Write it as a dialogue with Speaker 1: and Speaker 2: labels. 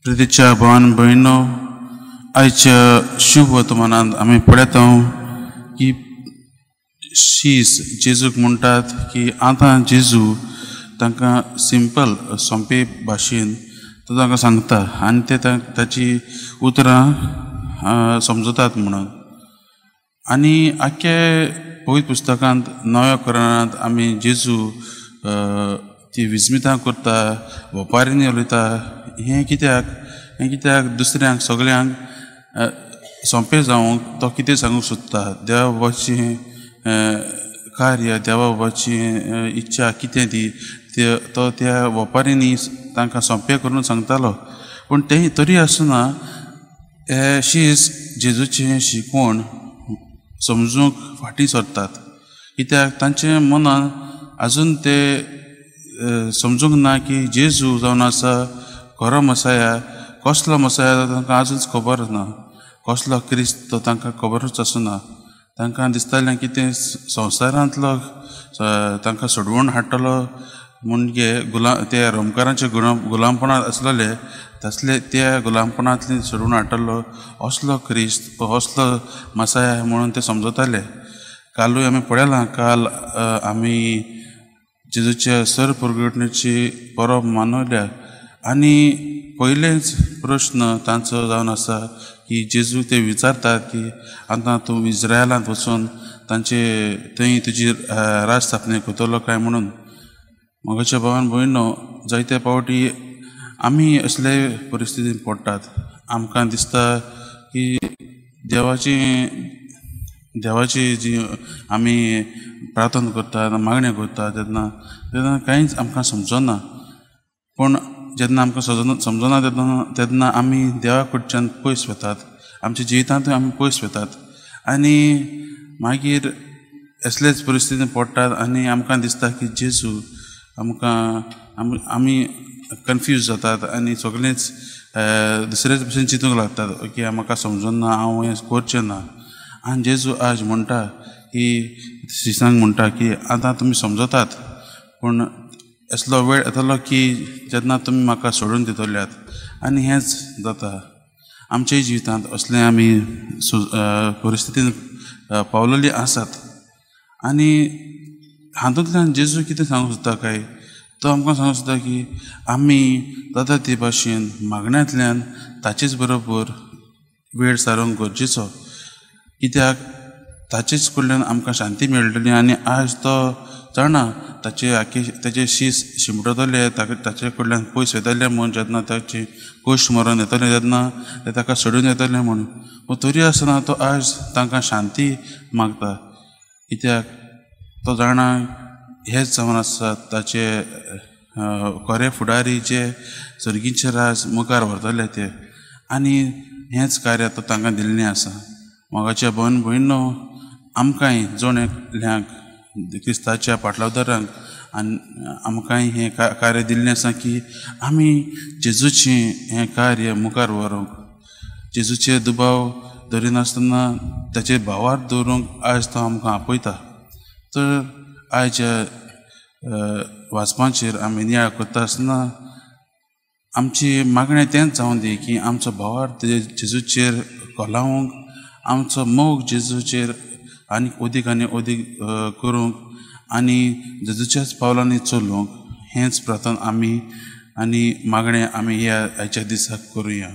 Speaker 1: प्रितीच्या भावान भयणो, आयच्या शुभ वर्तमानांत आमी पळयता की शीस जेजूक म्हणटात की आतां जेजू तांकां सिंपल सोंपे भाशेन तो तांकां सांगता आनी ते ताची उतरां समजतात म्हणून. आनी आख्खे पवित्र पुस्तकांत नव्या कुराणांत आमी जेजू ती विस्मितां करता, वपारींनी उलयता. हें कित्याक? हें कित्याक दुसऱ्यांक सगळ्यांक सोंपें जावंक तो कितें सांगूंक सोदता, देवा बाबाची कार्य, देवा बाबाची इच्छा कितें ती तो त्या वपारींनी तांकां सोंपें करून सांगतालो. पूण तें तरी आसतना हे शीस जेजूचें शिकवण समजूंक फाटीं सरतात, कित्याक तांचे मनान आजून ते समजूंक ना की जेजू जावन आसा खरो मसाया. कसलो मसाया तांकां आजून खबर ना, कसलो क्रिस्त तो तांकां खबरूच आसना. तांकां दिसतालें की तें संवसारांतलो तांकां सोडवण हाडटलो म्हणजे ते रोमकारांचे गुलामपणांत आसलेले तसले त्या गुलामपणांतली सोडून हाडटलो असलो क्रिस्त, असलो मसाया म्हणून ते समजताले. कालूय आमी पळयलां, काल आमी जेजूच्या सर प्रगटणेची परब मनयल्या आनी पयलेंच प्रश्न तांचो जावन आसा की जेजू ते विचारतात की आतां तूं इज्रायलांत वचून तांचे थंय तुजी राज स्थापने करतलो काय म्हणून. म्हज्या भावान भयणो, जायते पावटी आमी असले परिस्थितीन पडटात. आमकां दिसता की देवाची जी आमी प्रार्थना करतात, मागण्यो करतात तेन्ना तेन्ना कांयच आमकां समजना. पूण जेन्ना आमकां समजना तेन्ना आमी देवा कडच्यान पयस वतात, आमच्या जिवितांतूय आमी पयस वतात आनी मागीर असलेच परिस्थितीन पडटात आनी आमकां दिसता की जेजू आमकां आमी कन्फ्यूज जातात आनी सगळेंच दुसरेच भशेन चिंतूंक लागतात की म्हाका समजना, हांव हें करचें ना. आनी जेजू आज म्हणटा की शिसांक म्हणटा की आतां तुमी समजतात, पूण असलो वेळ येतलो की जेन्ना तुमी म्हाका सोडून दितल्यात. आनी हेंच जाता आमच्या जिवितांत, असलें आमी परिस्थितीन पावलेली आसात. आनी हातूंतल्यान जेजू कितें सांगूंक सोदता काय, तो आमकां सांगूंक सोदता की आमी जाता ते भाशेन मागण्यांतल्यान ताचेच बरोबर वेळ सारोवंक गरजेचो, कित्याक ताचेच कडल्यान आमकां शांती मेळटली. आनी आज तो जाणा ताचे आखे ताचे शीस शिमटतले, ताचे कडल्यान पयस येतले म्हूण, जेन्ना ताचे कश्ट मरण येतले तेन्ना ते ताका सोडून येतले म्हूण. पूण तरी आसतना तो आज तांकां शांती मागता, कित्याक तो जाणा हेच जावन आसा ताचे खरे फुडारी जे सर्गीचे राज मुखार व्हरतले ते. आनी हेंच कार्य तो तांकां दिल्लें आसा. मोगाच्या भयण भयणो, आमकांय जण एकल्यांक क्रिस्ताच्या पाटलावदारांक आनी आमकांय हें कार्य दिल्लें आसा की आमी जेजूचें हें कार्य मुखार व्हरूंक, जेजूचे दुबाव धरिनासतना ताचे भावार दवरूंक आज तो आमकां आपयता. तर आयच्या वाचपाचेर आमी नियाळ करता आसतना आमची मागणें तेंच जावं दी की आमचो भावार्थ जेजूचेर कोलावंक, आमचो मोग जेजूचेर आनी अदीक आनी अदीक करूंक आनी जेजूच्याच पावलांनी चलूंक, हेंच प्रार्थना आमी आनी मागणें आमी ह्या आयच्या दिसाक करुया.